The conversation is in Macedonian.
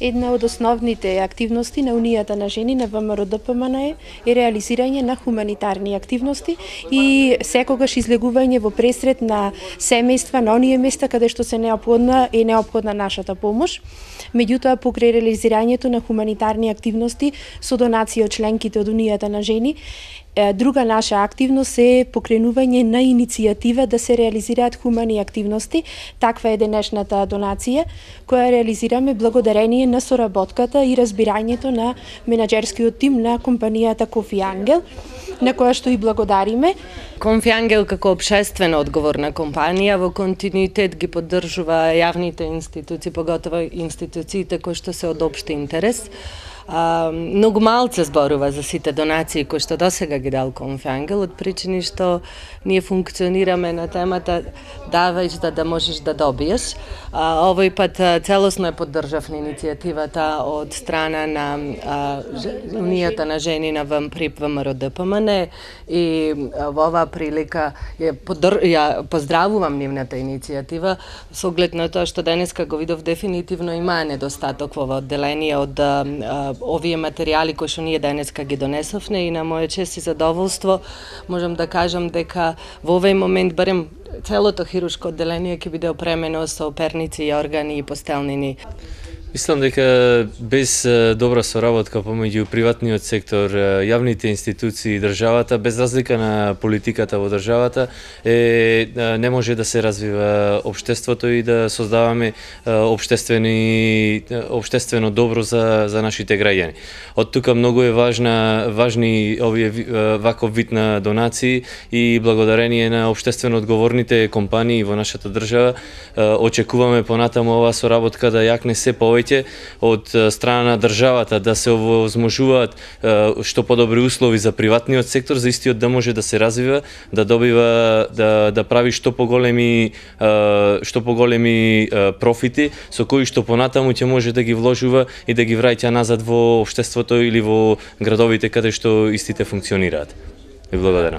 Една од основните активности на Унијата на жени на ВМРО-ДПМН е реализирање на хуманитарни активности и секогаш излегување во пресред на семејства на оние места каде што се неопходна нашата помош. Меѓутоа, покрај реализирањето на хуманитарни активности со донација од членките од Унијата на жени, друга наша активност е покренување на иницијатива да се реализираат хумани активности. Таква е денешната донација, која реализираме благодарение на соработката и разбирањето на менаџерскиот тим на компанијата Кофи Ангел, на која што и благодариме. Кофи Ангел како општествено одговорна компанија во континуитет ги поддржува јавните институции, поготово институциите кои што се од општи интерес. Многу малце зборува за сите донации кои што досега ги дал Кофи Ангел, од причини што ние функционираме на темата давајш да можеш да добиеш. Овој пат целосно е поддржавна иницијативата од страна на Унијата на жени на ПРИП ВМРО-ДПМН и во оваа прилика ја поздравувам нивната иницијатива со оглед на тоа што денеска го видов дефинитивно има недостаток во ова одделение од овие материјали кои што ние денеска ги донесовме и на моја чест и задоволство можам да кажам дека во овој момент барем целото хируршко одделение ќе биде опремено со перници и органи и постелнини. Мислам дека без добра соработка помеѓу приватниот сектор, јавните институции и државата, без разлика на политиката во државата, не може да се развива општеството и да создаваме општествено добро за нашите граѓани. Од тука многу е важни овие ваков вид на донации и благодарение на општествено одговорните компании во нашата држава очекуваме понатаму оваа соработка да јакне се повеќе од страна на државата, да се овозможуваат што подобри услови за приватниот сектор, за истиот да може да се развива, да добива, да прави што поголеми профити, со кои што понатаму ќе може да ги вложува и да ги враќа назад во општеството или во градовите каде што истите функционираат. Ви благодарам.